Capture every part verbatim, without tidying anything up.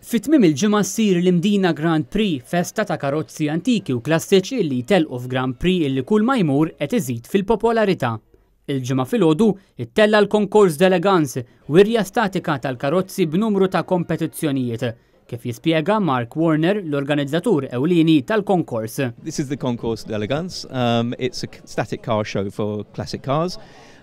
Fi tmiem il-ġimgħa ssir l-Imdina Grand Prix, festa ta' karozzi antiki u klassiċi li jtelqu f'Grand Prix illi kull ma jmur qed iżid fil-popolarità. Il-Ġimgħa filgħodu ittella l-Concours d'Elegance, wirja statika tal-karozzi b'numru ta' kompetizzjonijiet, kif jispjega Mark Warner, l-organizzatur ewlieni tal-konkors. This is the Concours d'Elegance. Um, it's a static car show for classic cars.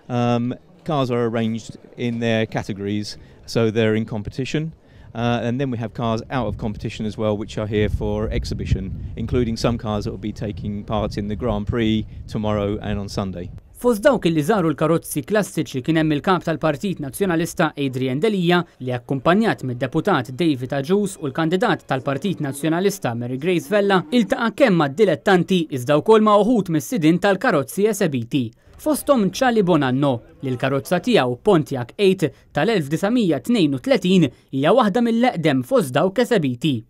Um, cars are arranged in their categories, so they're in competition. Uh, and then we have cars out of competition as well, which are here for exhibition, including some cars that will be taking part in the Grand Prix tomorrow and on Sunday. Fost dawk li żaru l-karozzi klassiċi kien hemm il-kap tal-Partit Nazzjonalista Adrian Delia, li akkumpanjat mid-deputat David Agius u l-kandidat tal-Partit Nazzjonalista Mary Grace Vella, iltaqa' kemm mad-dilettanti iżda wkoll ma' uħud mis-sidin tal-karozzi esebiti. Fosthom Charlie Bonanno, li l-karozza tiegħu Pontiac tmienja tal-elf disa' mija tnejn u tletin hija waħda mill-eqdem fost dawk esebiti.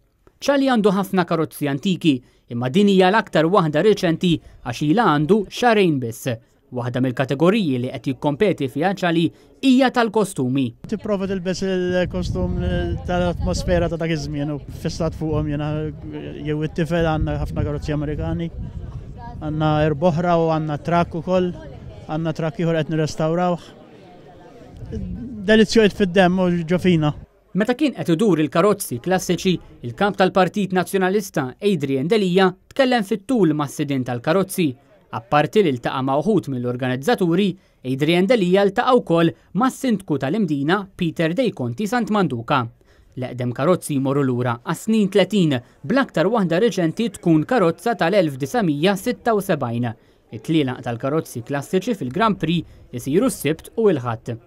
Charlie għandu ħafna karozzi antiki, imma din hija l-aktar waħda reċenti għax ilha għandu xahrejn biss. Waħda mill-kategoriji li qed jikkompeti fiha Charlie hija tal-kostumi. Tipprova tilbes il-kostum tal-atmosfera ta' dak iż-żmien u fissat fuqhom jiena jew it-tifel. Għandna ħafna karozzi Amerikani, għandna erb'oħra u għandna trakk ukoll, għandna trakk ieħor qed nirrestawrawh. Delizzju fid-demm u ġo fina. Meta kien qed idur il-karozzi klassiċi, il-kap tal-Partit Nazzjonalista Adrian Delia tkellem fit-tul mas-sidin tal-karozzi. Apparti li ltaqa' ma' uħud mill-organizzaturi, Adrian Delia ltaqa' wkoll mas-sindku tal-Imdina Peter Dei Conti Sant Manduca. L-eqdem karozzi jmorru lura għas-snin tletin, bl-aktar waħda reċenti tkun karozza tal-elf disa' mija sitta u sebgħin. It-tlielaq tal-karozzi klassiċi fil-Grand Prix isiru s-Sibt u l-Ħadd.